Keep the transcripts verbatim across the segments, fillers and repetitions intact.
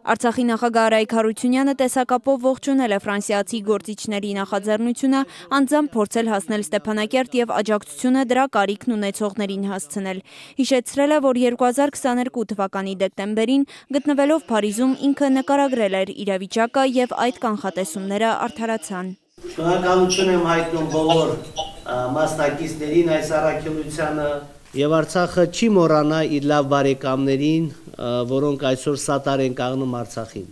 Արցախի նախագահ Արայիկ Հարությունյանը տեսակապով ողջունել է ֆրանսիացի գործիչների նախաձեռնությունը անձամբ փորձել հասնել Ստեփանակերտ եւ աջակցությունը դրա կարիքն ունեցողներին հասցնել։ Հիշեցրել է, որ երկու հազար քսաներկու թվականի դեկտեմբերին գտնվելով Փարիզում ինքը նկարագրել էր իրավիճակը եւ այդ կանխատեսումները արդարացան։ Շնորհակալություն եմ հայտնում բոլոր մասնակիցներին այս առաքելությանը եւ Արցախը չի մոռանա իր լավ բարեկամներին, որոնք այսօր սատար են կանգնում Արցախին։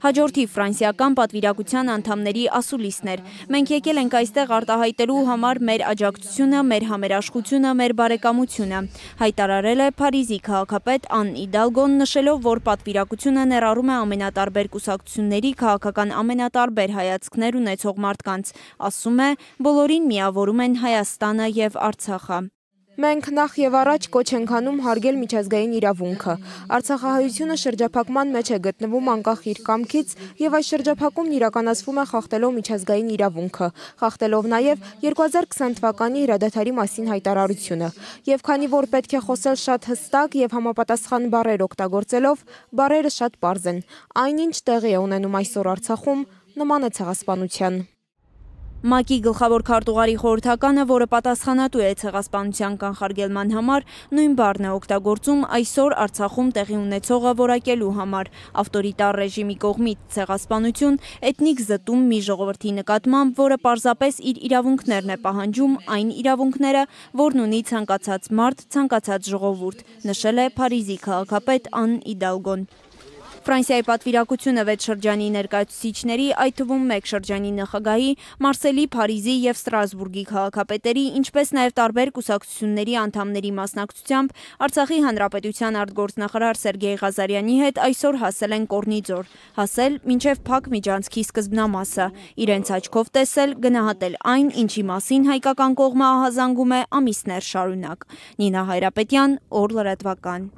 Հաջորդի ֆրանսիական պատվիրակության անդամների ասուլիսն էր։ Մենք եկել ենք այստեղ արտահայտելու համար մեր աջակցությունը, մեր համերաշխությունը, մեր բարեկամությունը, հայտարարել է Փարիզի քաղաքապետ Ան Իդալգոն, նշելով, որ պատվիրակությունը ներառում է ամենատարբեր կուսակցությունների քաղաքական ամենատարբեր հայացքներ ունեցող մարդկանց, ասում է, բոլորին միավորում են Հայաստանը եւ Արցախը։ Մենք նախ եւ առաջ կոչ ենք անում հարգել միջազգային իրավունքը։ Արցախահայությունը շրջափակման մեջ է գտնվում անկախ իր կամքից եւ այս շրջափակումն իրականացվում է խախտելով միջազգային իրավունքը, խախտելով նաեւ երկու հազար քսան թվականի հրադադարի մասին հայտարարությունը։ Եվ քանի որ պետք է խոսել շատ հստակ եւ համապատասխան բառեր օգտագործելով, բառերը շատ պարզ են։ Այնինչ տեղի է ունենում այսօր Արցախում, նման է ցեղասպանության։ ՄԱԿ-ի գլխավոր քարտուղարի խորհրդականը, որը պատասխանատու է ցեղասպանության կանխարգելման համար, նույն բառն է օգտագործում այսօր Արցախում տեղի ունեցողը որակելու համար։ Ավտորիտար ռեժիմի կողմից ցեղասպանություն, էթնիկ զտում մի ժողովրդի նկատմամբ, որը պարզապես իր իրավունքներն է պահանջում, այն իրավունքները, որն ունի ցանկացած մարդ, ցանկացած ժողովուրդ, նշել է Փարիզի քաղաքապետ Ան Իդալգոն։ Ֆրանսիայի պատվիրակությունը վեց շրջանի ներկայացուցիչների, այդ թվում մեկ շրջանի նախագահի, Մարսելի, Փարիզի եւ Ստրասբուրգի քաղաքապետերի, ինչպես նաեւ տարբեր կուսակցությունների անդամների մասնակցությամբ Արցախի հանրապետության արտգործնախարար Սերգեյ Ղազարյանի հետ այսօր հասել են Կորնիձոր, հասել մինչեւ Փակ միջանցքի սկզբնամասը, իրենց աչքով տեսել, գնահատել այն, ինչի մասին հայկական կողմը ահազանգում է ամիսներ շարունակ։ Նինա Հայրապետյան, Օր լրատվական։